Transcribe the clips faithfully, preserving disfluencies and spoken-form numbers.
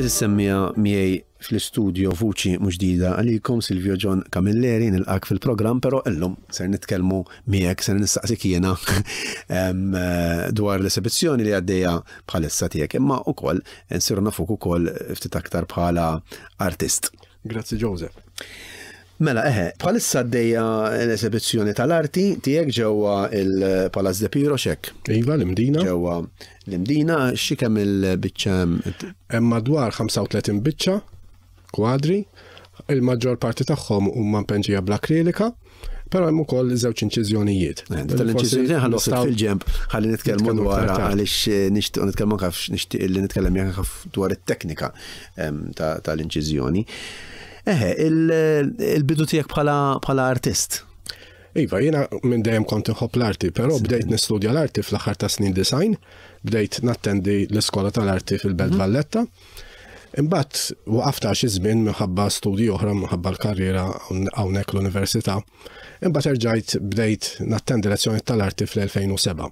Għeżież semmiegħa, miegħi fl-istudio vuċi mhux ġdida għalikom, Silvio John Camilleri. Nilqgħek fil-programm, però illum ser nitkellmu miegħek, ser nistaqsik jiena dwar l-esibizzjoni li għaddejja bħalissa tiegħek, imma ukoll nsiru nafuk ukoll ftit aktar bħala artist. Grazzi, Joseph. Mela, eħe, bħalissa għaddejja l-esibizzjoni tal-arti tiegħek ġewwa il-Palazz de Piro xek. Iva, l-Imdina. Ġewwa l-Imdina, xi kemm il-biċċa? Hemm madwar ħamsa u tletin biċċa kwadri, il-maġġor parti tagħhom huma mpenġija bl-akrilika, però hemm ukoll żewġ inċiżjonijiet. Tal-inċiżjoni ħallu fil-ġemp, ħalli nitkellmu dwar, għaliex nixtieq nitkellmu kif nixtieq li nitkellem jekk dwar it-teknika tal-inċiżjoni. Eħe, il-bidu tiegħek bħala artist. Iva, jiena minn dejjem kont inħobb l-arti, però bdejt nistudja l-arti fl-aħħar ta' snin disgħin, bdejt nattendi l-iskola tal-arti fil-Belt mhm. Valletta. Imbagħad waqaft xi żmien minħabba studji oħra, minħabba l-karriera hawnhekk l-università. Imbagħad erġajt bdejt nattendi lezzjoni tal-arti fl-elfejn u sebgħa.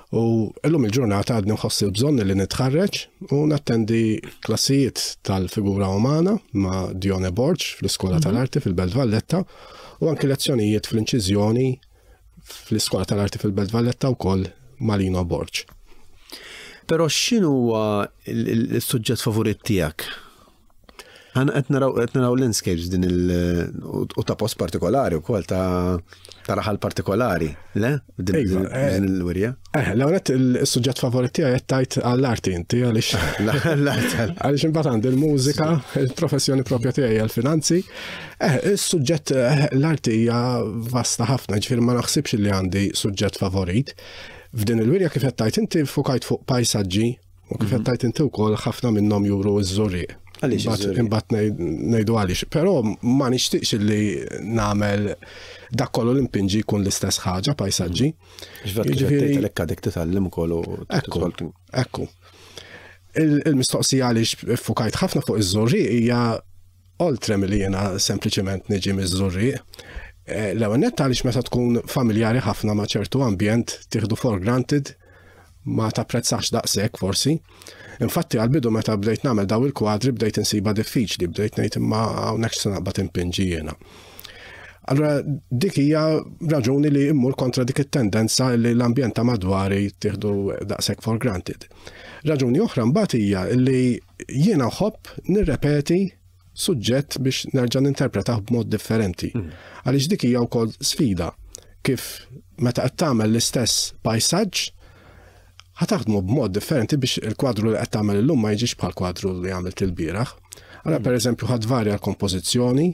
U illum il-ġurnata għadni nħossi l-bżonn li nitħarreġ u nattendi klassijiet tal-figura umana ma' Dione Borg fl-Iskola mhm. tal-Arti fil-Belt Valletta u anki lezzjonijiet fl-inċiżjoni fl-Iskola tal-Arti fil-Belt Valletta wkoll ma' Lino Borg. Però x'inhu huwa il-suġġett favorit tiegħek? Għan qed naraw qed naraw landscapes din il u ta' post partikolari wkoll, ta' ta' raħal partikolari, le? Din Iva, eh, din il-wirja. Eh, l-għonet il-suġġett favorit tiegħi qed tajt għall-arti inti, għaliex L-art. għaliex imbagħad għandi l-mużika, il-professjoni propja tiegħi għal-finanzi. Eh, il-suġġett eh, l-arti hija vasta ħafna, ġifieri ma naħsibx li għandi suġġett favorit. F'din il-wirja, kif qed tajt inti, fukajt fuq pajsaġġi u kif qed tajt inti wkoll ħafna minnhom juru ż-Żurrieq. Għaliex Imbagħad- iż-Żurrieq? Imbagħad ngħid- ngħidu għaliex, però ma nixtieqx li nagħmel dak kollu li mpinġi jkun l-istess ħaġa, pajsaġġi. Ġvat kif Jiġifieri- qed tgħid għadek titgħallem ukoll u Ekku, ekku. Il- Il-mistoqsija għaliex fukajt ħafna fuq iż-Żurrieq hija oltre milli jiena sempliċement niġi miż-Żurrieq. Eh, L-ewwel nett għaliex meta tkun familjari ħafna ma' ċertu ambjent tieħdu for granted, ma tapprezzax daqshekk forsi. Infatti għal-bidu meta bdejt nagħmel daw il-kwadri bdejt insiba diffiċli, bdejt ngħid, "Imma hawnhekk se naqbad impinġi jiena?" Allora dik hija raġuni li immur kontra dik it-tendenza li l-ambjent ta' madwari tieħdu daqshekk for granted. Raġuni oħra mbagħad hija li jiena nħobb nirrepeti suġġett biex nerġa' ninterpretah b'mod differenti. Għaliex dik hija wkoll sfida, kif meta qed tagħmel l-istess pajsaġġ ħa taħdmu b'mod differenti biex il-kwadru li qed tagħmel illum ma jiġix bħal kwadru li għamilt il-bieraħ. Allora, per eżempju, ħa tvarja l-kompożizzjoni,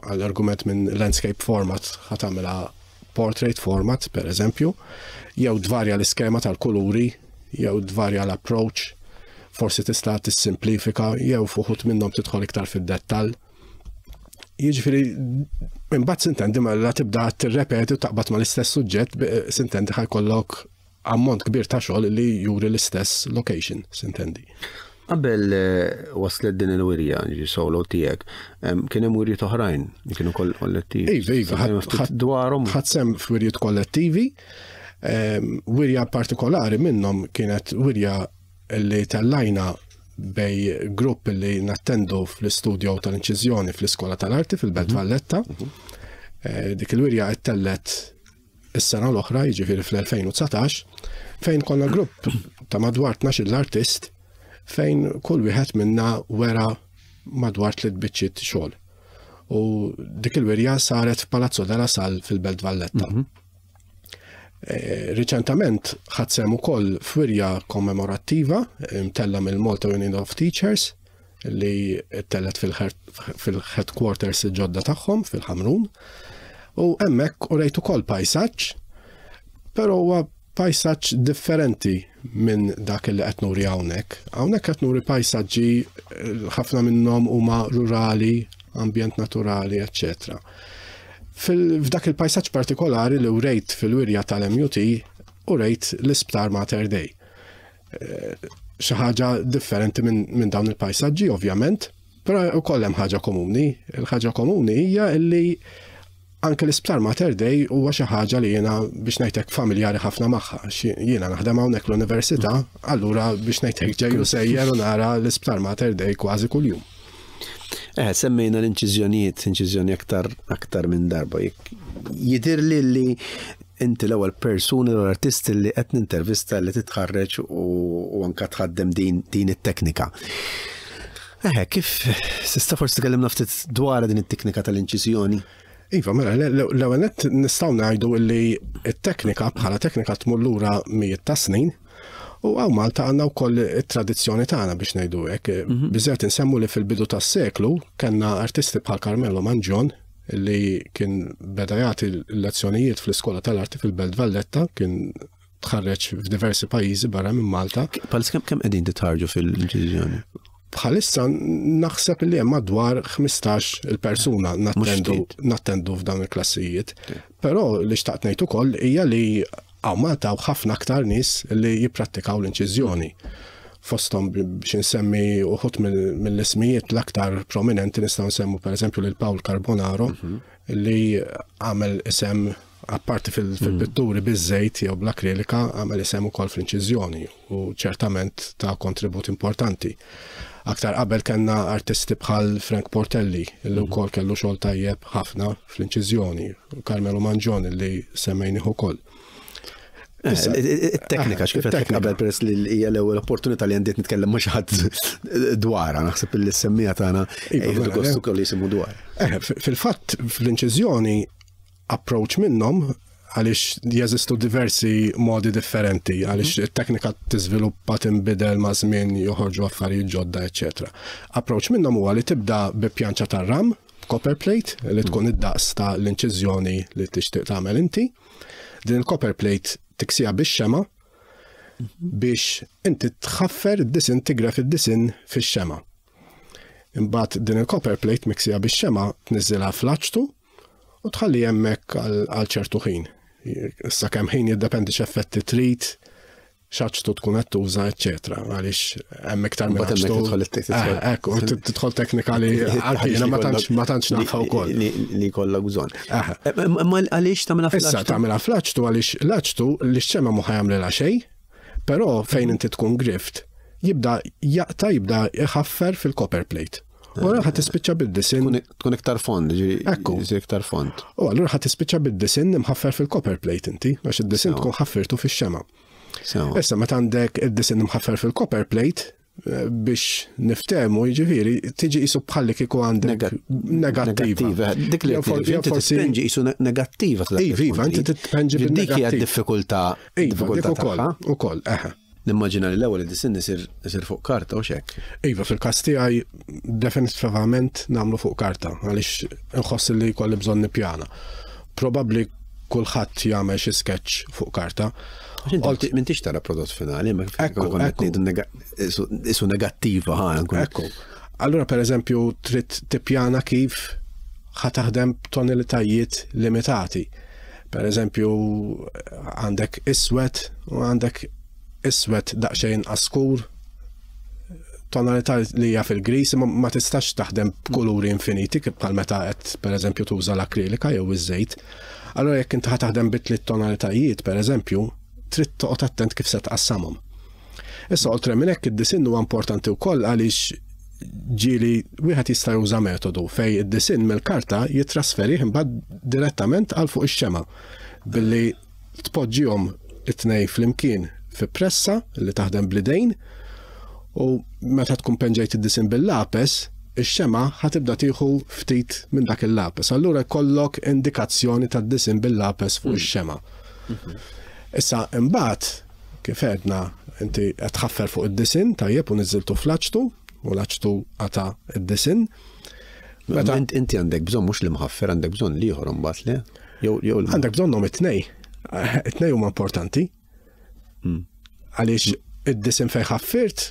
għall-argument minn landscape format ħa tagħmilha portrait format, per eżempju, jew tvarja l-iskema tal-kuluri, jew tvarja l-approach, forsi tista' tissimplifika, jew f'uħud minnhom tidħol iktar fid-dettall. Jiġifieri, imbagħad sintendi ma la tibda tirrepeti u taqbad ma l-istess suġġett, sintendi ħa jkollok ammont kbir ta' xogħol li juri l-istess location, sintendi. Qabel eh, waslet din il-wirja, ġi solo tiegħek, kien hemm wirjiet oħrajn li kienu kollettivi. Iva, iva, Ftit dwarhom. Ħadt sehem f'wirjiet kollettivi, wirja partikolari minnhom kienet wirja li tellajna bejn grupp li nattendu fl-istudio tal-inċiżjoni fl-Iskola tal-Arti fil-Belt mhm. Valletta. Mhm. Eh, dik il-wirja ttellet is-sena l-oħra, jiġifieri fl-elfejn u dsatax, fejn konna grupp ta' madwar tnax l-artist, fejn kull wieħed minna wera madwar tliet biċċiet xogħol. U dik il-wirja saret f'Palazzo della Sal fil-Belt Valletta. Mm -hmm. Riċentament ħadt sehem ukoll f'wirja kommemorattiva mtella mill-Malta Union of Teachers li ttellet fil-headquarters ġodda tagħhom fil-Ħamrun. U hemmhekk urejt ukoll pajsaġġ, però huwa pajsaġġ differenti minn dak li qed nuri hawnhekk. Hawnhekk qed nuri pajsaġġi, ħafna minnhom huma rurali, ambjent naturali, eċċetera. F'dak il-pajsaġġ partikolari li urejt fil-wirja tal-M U T, urejt l-Isptar Mater Dei. Eh, xi ħaġa differenti minn min dawn il-pajsaġġi ovvjament, però ukoll hemm ħaġa komuni. Il-ħaġa komuni hija li Anke l-Isptar Mater Dei huwa xi ħaġa li jiena, biex ngħidlek, familjari ħafna magħha. Jiena naħdem hawnhekk l-università, allura, biex ngħidlek, ġejju sejjer u nara l-Isptar Mater Dei kważi kuljum. Eh, semmejna l-inċiżjonijiet, inċiżjoni aktar aktar minn darba. Jidir li li inti l-ewwel persuna, l-artist li qed nintervista li titħarreġ u anka tħaddem din din it-teknika. Eh, kif tista' forsi tkellimna ftit dwar din it-teknika tal-inċiżjoni? Iva, mela, l-ewwel nett nistgħu ngħidu li t-teknika bħala teknika tmur lura mijiet ta' snin u hawn Malta għandna wkoll it-tradizzjoni tagħna, biex ngħidu hekk. Mhm. Biżżejjed insemmu li fil-bidu tas-seklu kellna artisti bħal Carmelo Mangion, li kien beda jagħti lezzjonijiet fl-Iskola tal-Arti fil-Belt Valletta, kien tħarreġ f'diversi pajjiżi barra minn Malta. Bħal kemm kemm qegħdin titħarġu fil-inċiżjoni? Bħalissa naħseb li hemm madwar ħmistax il-persuna nattendu nattendu f'dawn il-klassijiet. Però li xtaqt ngħid ukoll hija li hawn Malta u ħafna aktar nies li jipprattikaw l-inċiżjoni. Fosthom, biex insemmi uħud mill-ismijiet l-aktar prominenti, nistgħu nsemmu pereżempju lil Paul Carbonaro, mhm. li għamel isem apparti fil-pitturi biż-żejt jew bl-akrilika, għamel isem ukoll fl-inċiżjoni u ċertament ta' kontribut importanti. Aktar qabel kellna artisti bħal Frank Portelli, li mhm. wkoll kellu xogħol tajjeb ħafna fl-inċiżjoni, Carmelo Mangion li semmejnih ukoll. Eh, it-teknika, x'kif qed qabel, peress li hija l-ewwel opportunità li għandiet nitkellem ma' xi ħadd dwarha, naħseb li s-semmija tagħna iva, jieħdu gostu kollu jisimgħu dwar. Eh, fil-fatt fl-inċiżjoni approach minnhom, għaliex jeżistu diversi modi differenti, għaliex mhm. it-teknika tiżviluppa, tinbidel ma' żmien, joħorġu affarijiet ġodda, eċetera. Approach minnhom huwa li tibda bi pjanċa tar-ram, copper plate, li tkun mhm. id-daqs ta' l-inċiżjoni li tixtieq tagħmel inti. Din il-copper plate tiksija bix-xema mhm. biex inti tħaffer id-disinn, tigref id-disinn fix-xema. Imbagħad din il-copper plate miksija bix-xema tniżżilha fl-aċtu u tħalli hemmhekk għal ċertu ħin. Issa kemm ħin jiddependi x'effetti trid, x'aċtu tkun qed tuża, eċetera. Għaliex hemm iktar minn aċtu. Eh, ekku, tidħol teknika li anki jiena ma tantx ma tantx nafha wkoll. Li kollha bżonn. Eh, ma għaliex tagħmilha fl-aċtu? Issa tagħmilha fl-aċtu għaliex l-aċtu li x-xema mhu ħa jagħmlilha xejn, però fejn inti tkun grift, jibda jaqta', jibda jħaffer fil-copper plate. U allura ħa tispiċċa bid-disinn. Tkun iktar fond, Ekku. Iktar fond. U allura ħa tispiċċa bid-disinn imħaffer fil-copper plate inti, għax id-disinn tkun ħaffirtu fix-xema. Issa meta għandek id-disinn imħaffer fil-copper plate, eh, biex niftemu, jiġifieri, tiġi qisu bħalli kieku għandek negattiva. Dik li forsi tpenġi qisu negattiva. Iva, iva, inti tpenġi. Dik hija diffikultà. Iva, dik ukoll, ukoll, eħe. Nimmaġina li l-ewwel id-disinn isir isir fuq karta u xek. Iva, fil-każ tiegħi definitivament nagħmlu fuq karta għaliex nħoss li jkolli bżonn nippjana. Probabbli kulħadd jagħmel xi sketch fuq karta. M'intix tara prodott finali, ma qisu negattiva ħa. Ekku. Allura, per eżempju, trid tippjana kif ħa taħdem b'tonalitajiet limitati. Per eżempju, għandek iswed u għandek iswed daqsxejn askur, tonalità li hija fil-gris, ma ma tistax taħdem b'kuluri infiniti kif bħal meta qed, pereżempju, tuża l-akrilika jew iż-żejt. Allora jekk inti ħa taħdem bi tliet tonalitajiet, pereżempju, trid toqgħod attent kif se tqassamhom. Issa, oltre minn hekk, id-disinn huwa importanti wkoll għaliex ġieli wieħed jista' juża metodu fej id-disinn mill-karta jitrasferih imbagħad direttament għal fuq ix-xema billi tpoġġihom it-tnejn flimkien fi pressa li taħdem bl-idejn, u meta tkun penġejt id-disinn bil-lapes, ix-xema ħa tibda tieħu ftit minn dak il-lapes. Allura jkollok indikazzjoni tad-disinn bil-lapes fuq ix-xema. Issa imbagħad, kif għedna, inti qed tħaffer fuq id-disinn tajjeb u niżiltu fl-aċtu u l-aċtu qata' id-disinn. Meta inti għandek bżonn mhux li mħaffer, għandek bżonn l-ieħor imbagħad le? Jew jew Għandek bżonnhom it-tnej. It-tnej huma importanti. Hmm. Għaliex id-disinn fejn ħaffirt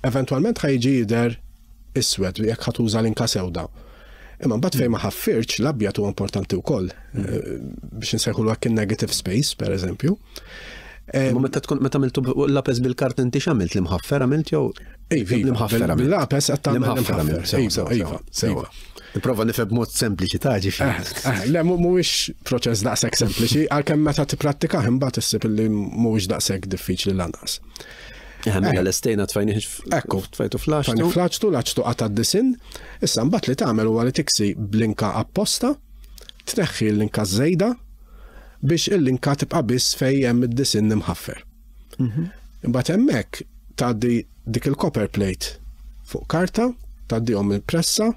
eventwalment ħa jiġi jidher iswed jekk ħa tuża l-inka sewda. Imma mbagħad fejn ma ħaffirtx, l-abjad huwa importanti wkoll eh, biex nsejħulu hekk, negative space, pereżempju. Ma meta tkun meta għamiltu lapes bil-kart inti x'għamilt, l-imħaffer għamilt jew? Iva, l-imħaffer għamilt. Bil-lapes qed tagħmel L-imħaffer għamilt. Sewa, sewa, Iva, sewa. Nipprova nifhem b'mod sempliċi ta' ġifieri. Eh, Le, mhuwiex proċess daqshekk sempliċi, għalkemm meta tipprattika imbagħad issib li mhuwiex daqshekk diffiċli lanqas. Eh, mela lestejna tfajnih Ekku. tfajtu fl-aċtu. Tfajni fl-aċtu, l-aċtu qata' d-disinn, issa mbagħad li tagħmel huwa li tiksi b'linka apposta, tneħħi l-linka żejda biex il-linka tibqa' biss fejn hemm id-disinn imħaffer. Imbagħad hemmhekk tgħaddi dik il-copper plate fuq karta, tgħaddihom il-pressa,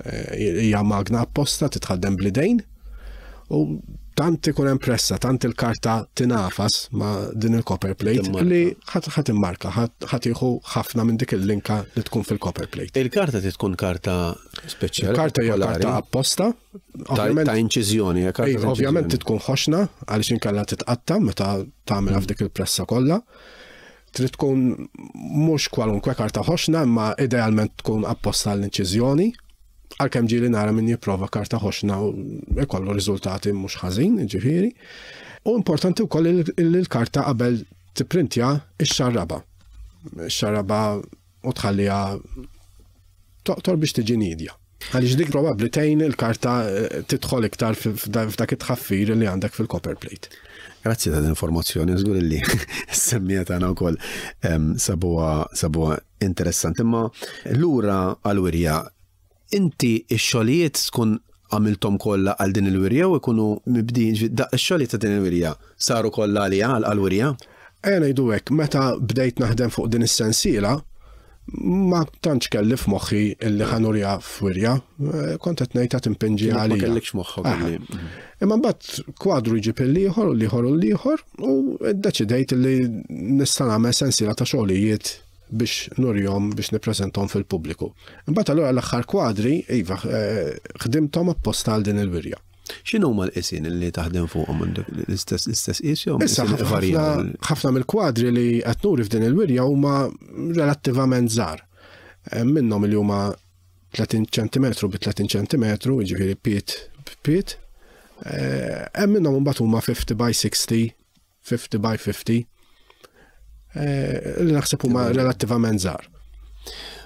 eh, hija magna apposta titħaddem bl-idejn, u tant ikun hemm pressa, tant il-karta tinafas ma' din il-copper plate Timmarka. li ħadd ħadd immarka, ħadd jieħu ħafna minn dik il-linka li tkun fil-copper plate. Il-karta trid tkun karta speċjali. Il-karta hija partikolari. karta apposta. Ta' Ovvjament ta' inċiżjoni, hija karta Iva, ta' ovvjament inċiżjoni. tkun ħoxna għaliex inkella titqatta meta tagħmilha f'dik il-pressa kollha. Trid tkun mhux kwalunkwe karta ħoxna, imma idealment tkun apposta l-inċiżjoni. Għalkemm ġieli nara min jipprova karta ħoxna u jkollu riżultati mhux ħażin, ġifieri. U importanti wkoll li l-karta qabel tipprintja ix-xarraba. Ix-xarraba u tħalliha toqtor biex tiġi nidja. Għaliex dik probabbli tgħin il-karta eh, tidħol iktar f'dak it-tħaffir li għandek fil-copper plate. Grazzi ta' informazzjoni, żgur li s-semmiegħa tagħna wkoll em, sabuha sabuha interessanti. Imma lura għal-wirja, inti x-xogħlijiet tkun għamiltom kollha għal din il-wirja u jkunu mibdin, da x-xogħlijiet ta' din il-wirja saru kollha għalija għal-wirja? Ejja ngħidu hekk, meta bdejt naħdem fuq din is-sensiela, ma tantx kelli f'moħħi illi ħa nuriha f'wirja, eh, kont qed ngħid qed impinġi Ma għalija. kellekx moħħok Aha. illi. Imma mbagħad kwadru jġib il-ieħor u l-ieħor u l-ieħor u ddeċidejt li nista' nagħmel sensiela ta' xogħlijiet biex nurihom biex nippreżentahom fil-pubbliku. Imbagħad allura l-aħħar kwadri, iva, eh, ħdimthom apposta għal din il-wirja. X'inhu huma l-qisien li taħdem fuqhom għandek l-istess l-istess qis jew Issa qisien ħafna varjaw? ħafna mill-kwadri li qed nuri f'din il-wirja huma relattivament żgħar. Eh, Minnhom li huma tletin ċentimetru bi tletin ċentimetru, jiġifieri pied b'pied. Eh, Hemm minnhom imbagħad huma fifty by sixty, fifty by fifty. Eh, Li naħseb huma relattivament żgħar.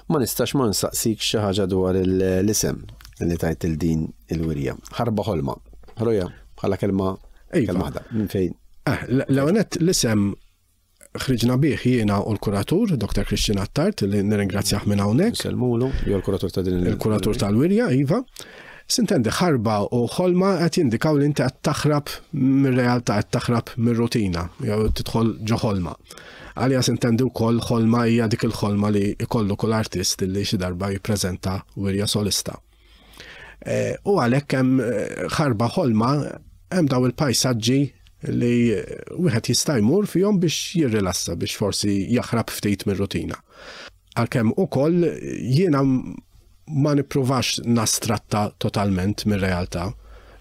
Ma nistax ma nsaqsik xi ħaġa dwar il- l-isem li tajt il din il-wirja. Ħarba ħolma. Ħroja, bħala kelma Iva. kelma waħda. Minn fejn? Eh, L-ewwel l-isem ħriġna bih jiena u l-kuratur, Doktor Christian Attard, li nirringrazzjah minn hawnhekk. Nsellmulu, jew l-kuratur ta' din il- Il-kuratur tal-wirja, iva. Sintendi ħarba u ħolma qed jindikaw li inti qed taħrab mir-realtà, qed taħrab mir-rutina, jew tidħol ġo ħolma. Għalija sintendi wkoll ħolma hija dik il-ħolma li jkollu kull artist li xi darba jippreżenta wirja solista. Eh, U għalhekk hemm eh, ħarba ħolma, hemm daw il-pajsaġġi li wieħed jista' jmur fihom biex jirrilassa, biex forsi jaħrab ftit mir-rutina. Għalkemm ukoll jiena ma nippruvax nastratta totalment mir-realtà.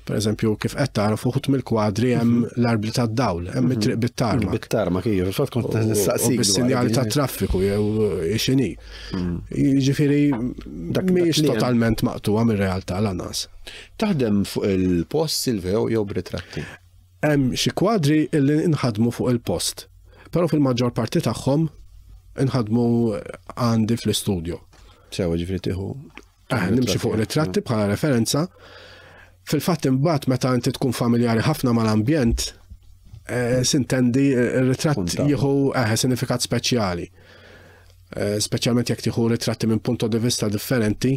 Per eżempju, kif qed tara fuq mill-kwadri hemm l-arbli tad-dawl, hemm it-triq bit-tarmak. Bit-tarmak, iva, fil-fatt kont U nistaqsik. bis-sinjali ta' traffiku jew x'inhi. Jiġifieri Dak- mhijiex dak li hemm. totalment maqtuha mir-realtà lanqas. Taħdem fuq il-post, Silvio, jew b'ritratti? Hemm xi kwadri illi inħadmu fuq il-post, però fil-maġġor parti tagħhom inħadmu għandi fl-istudio. Sewa, ġifieri tieħu. Eh, nimxi fuq ritratti bħala referenza. Fil-fatt imbagħad meta inti tkun familjari ħafna mal-ambjent, eh, sintendi eh, ir-ritratt Punta. jieħu eh, sinifikat speċjali. Eh, Speċjalment jekk tieħu ritratti minn punto di vista differenti,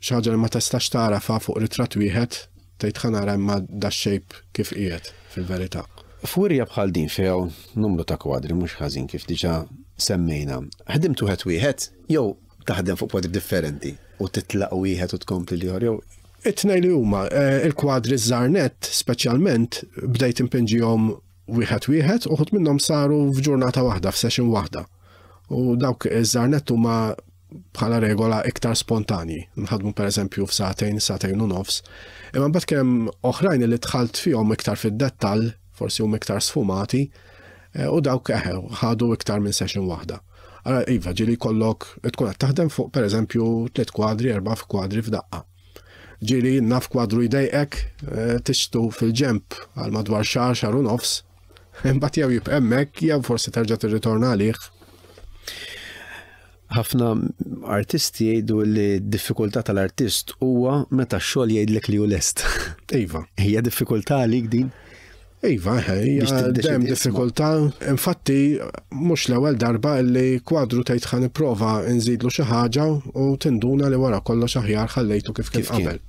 xi ħaġa li ma tistax tarafa fuq ritratt wieħed, tgħid ħa nara imma da shape kif qiegħed fil-verità. F'wirja bħal din fejn numru ta' kwadri mhux ħażin kif diġà semmejna. Ħdimt wieħed wieħed jew taħdem fuq kwadri differenti u titlaq wieħed u tkompli l-ieħor jew It-tnejn li huma, eh, il-kwadri żgħar speċjalment bdejt impinġihom wieħed wieħed, uħud minnhom saru f'ġurnata waħda, f'session waħda. U dawk iż-żgħar nett huma bħala regola iktar spontanji. Nħadmu per eżempju f'sagħtejn, sagħtejn u nofs. Imma mbagħad kien hemm oħrajn li dħalt fihom iktar fid-dettall, forsi huma iktar sfumati, eh, u dawk eħe ħadu iktar minn session waħda. Allora, iva, ġieli kollok tkun qed taħdem fuq per eżempju tliet kwadri, erba' kwadri f'daqqa. Ġieli naf kwadru jdejqek, eh, tixtu fil-ġemp għal madwar xahar, xahar u nofs, Imbagħad jew jibqa' hemmhekk jew forsi terġa' tirritorna għalih. Ħafna artisti jgħidu li d-diffikultà tal-artist huwa meta x-xogħol jgħidlek li hu lest. Iva. Hija diffikultà għalik din? Iva, hija dejjem diffikultà. Infatti, mhux l-ewwel darba li kwadru tgħid ħa nipprova nżidlu xi ħaġa u tinduna li wara kollox aħjar ħallejtu kif kien qabel.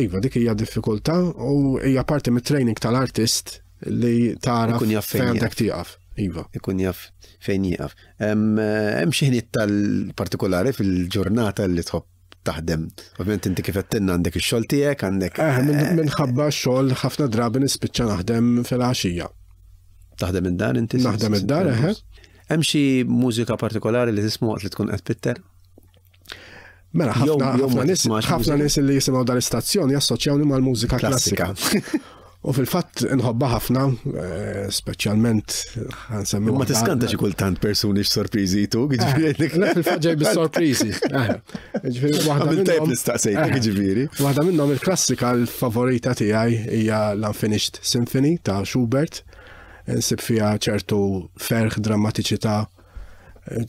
Iva, dik hija diffikultà u hija parti mit-training tal-artist li tara fejn għandek tieqaf. Iva. Ikun jaf fejn jieqaf. Hemm xi ħiniet tal-partikolari fil-ġurnata li tħobb taħdem. Ovvjament inti kif għedtilna għandek ix-xogħol tiegħek, għandek. Eh, minħabba x-xogħol ħafna drabi nispiċċa naħdem fil-għaxija. Taħdem id-dar inti? Naħdem id-dar, eħe. Hemm xi mużika partikolari li tisma' waqt li tkun qed pitter? Mela, ħafna nies ħafna nies li jisimgħu dal-istazzjon jassoċjawni mal-mużika klassika. U fil-fatt nħobba ħafna, speċjalment ħansemmi. Ma tiskanta xi kultant persuni x'sorpriżi jtuk, jiġifieri. Le, fil-fatt ġej bis-sorpriżi. Jiġifieri waħda minnhom. Tajb nistaqsejtek, jiġifieri. Waħda minnhom il-klassika l-favorita tiegħi hija l-Unfinished Symphony ta' Schubert. Nsib fiha ċertu ferħ, drammatiċità,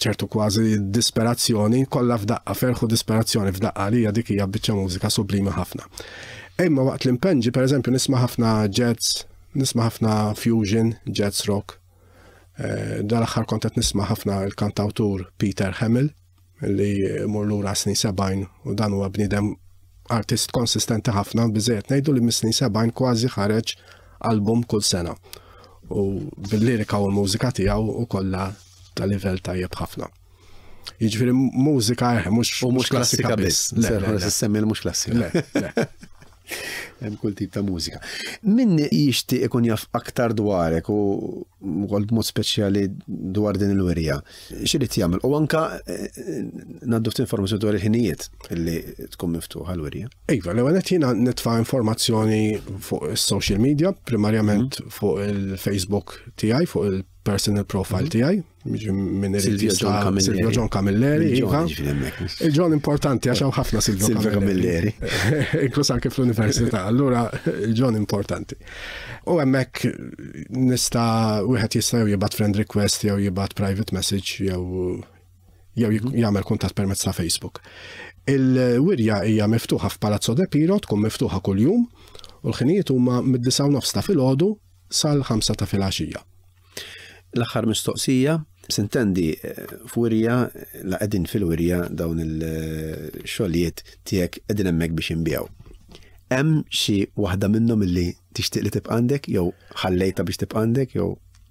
ċertu kważi disperazzjoni, kollha f'daqqa, ferħ u disperazzjoni f'daqqa li hija dik hija biċċa mużika sublimi ħafna. Imma waqt l-impenġi, per eżempju, nisma' ħafna jazz, nisma' ħafna fusion, jazz rock. Dal-aħħar kont qed nisma' ħafna l-kantawtur Peter Hamill, li mur lura snin sebgħin, u dan huwa bniedem artist konsistenti ħafna, biżejjed ngħidu li mis-snin sebgħin kważi ħareġ album kull sena. U bil-lirika u l-mużika tiegħu u kollha ta' livell tajjeb ħafna. Jiġifieri mużika mhux mhux klassika biss. Le, semmi mhux klassika. Le, le. Hemm kull tip ta' mużika. Min jixtieq ikun jaf aktar dwarek u wkoll b'mod speċjali dwar din il-wirja, x'irid jagħmel? U anka ngħaddu ftit informazzjoni dwar il-ħinijiet li tkun miftuħa l-wirja. Iva, l-ewwel qed jiena nitfa' informazzjoni fuq is-social media, primarjament fuq il-Facebook tiegħi, fuq il-personal profile tiegħi, minn Silvio John Camilleri. Silvio John Camilleri, iva. Il-John importanti għax hawn ħafna Silvio Camilleri. Inkluż anke fl-università, allura il-John importanti. U hemmhekk nista' wieħed jista' jew jibgħat friend request jew jibgħat private message jew jew jagħmel kuntatt permezz ta' Facebook. Il-wirja hija miftuħa f'Palazzo De Piro, tkun miftuħa kuljum, u l-ħinijiet huma mid-disgħa u nofs ta' filgħodu sal-ħamsa ta' filgħaxija. L-aħħar mistoqsija, sintendi f'wirja, la qegħdin fil-wirja dawn il-xogħlijiet tiegħek qegħdin hemmhekk biex inbiegħu. Hemm xi waħda minnhom illi tixtieq li tibqa' għandek jew ħallejta biex tibqa' għandek jew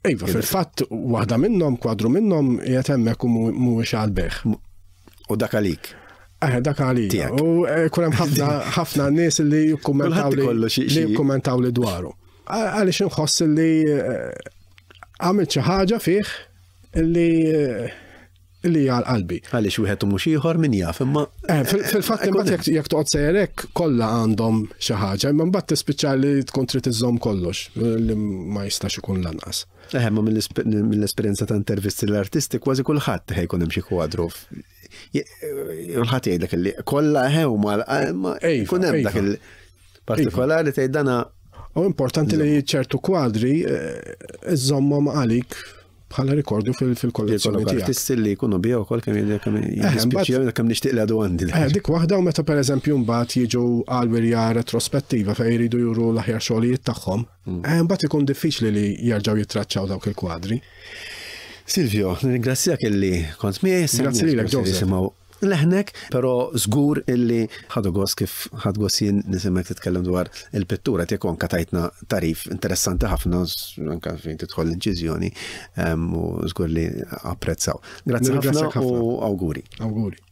Iva, fil-fatt waħda minnhom, kwadru minnhom qiegħed hemmhekk u mhuwiex għall-bejgħ. U dak għalik. Eh, dak għalija. U kun hemm ħafna ħafna nies li jikkummentaw li jikkummentaw li dwaru. Għaliex inħoss li għamilt xi ħaġa fih li li għal qalbi. Għaliex wieħed u mhux ieħor min jaf imma. Fil-fatt imbagħad jekk toqgħod sejrek kollha għandhom xi ħaġa, imma mbagħad tispiċċa li tkun trid iżżomm kollox li ma jistax ikun lanqas. Eħe, ma mill-esperjenza ta' intervisti l-artisti kważi kulħadd ħejkun hemm xi kwadru. Kulħadd jgħidlek li kollha eħe huma jkun hemm dak il-partikolari tgħid dana. U importanti li ċertu kwadri iżommhom għalik bħala rikordju fil-kollezzjoni tiegħek. Artisti li jkunu biha wkoll kemm jiddispjaċi kemm nixtieq li għadu għandi. Dik waħda u meta pereżempju mbagħad jiġu għal wirja retrospettiva fejn jridu juru l-aħjar xogħlijiet tagħhom, mbagħad ikun diffiċli li jerġgħu jittraċċaw dawk il-kwadri. Silvio, nirringrazzjak illi kont miegħi. Grazzi lilek, Joseph. Leħnek, pero żgur illi ħadu gost kif ħad gost jien nisimek titkellem dwar il-pittura tiegħek anke tajtna tarif interessanti ħafna anke fejn tidħol l-inċiżjoni u żgur li apprezzaw. Grazzi ħafna u awguri. Awguri.